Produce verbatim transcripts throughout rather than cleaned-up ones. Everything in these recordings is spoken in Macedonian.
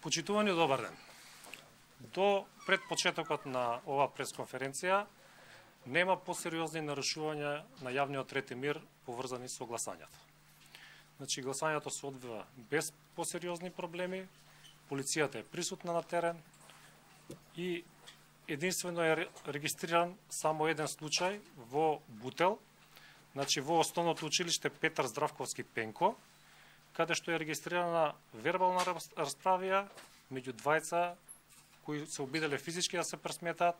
Почитувани, добар ден. До пред почетокот на оваа пресконференција нема посериозни нарушувања на јавниот ред и мир поврзани со гласањето. Значи, гласањето се одвива без посериозни проблеми, полицијата е присутна на терен и единствено е регистриран само еден случај во Бутел, значи во Основното училиште Петар Здравковски Пенко, каде што е регистрирана вербална расправија меѓу двајца кои се обиделе физички да се пресметаат,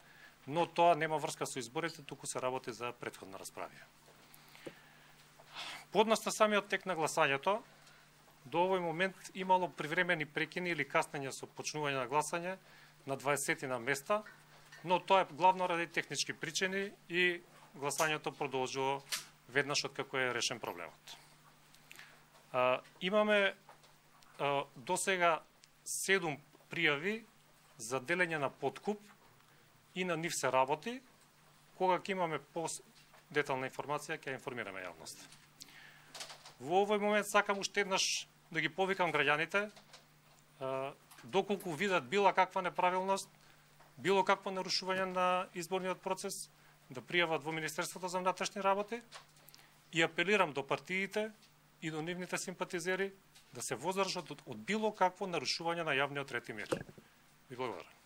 но тоа нема врска со изборите, туку се работи за претходна расправија. Подоцна самиот тек на гласањето, до овој момент имало привремени прекини или каснење со почнување на гласање на дваесет на места, но тоа е главно ради технички причини и гласањето продолжило веднаш откако е решен проблемот. А, имаме а, до сега седум пријави за делење на подкуп и на нив се работи. Кога ќе имаме по-детална информација, ќе информираме јавност. Во овој момент сакам уште еднаш да ги повикам граѓаните, а, доколку видат била каква неправилност, било какво нарушување на изборниот процес, да пријават во Министерството за внатрешни работи и апелирам до партиите и до нивните симпатизери да се воздржат од било какво нарушување на јавниот ред и мир. Ви благодарам.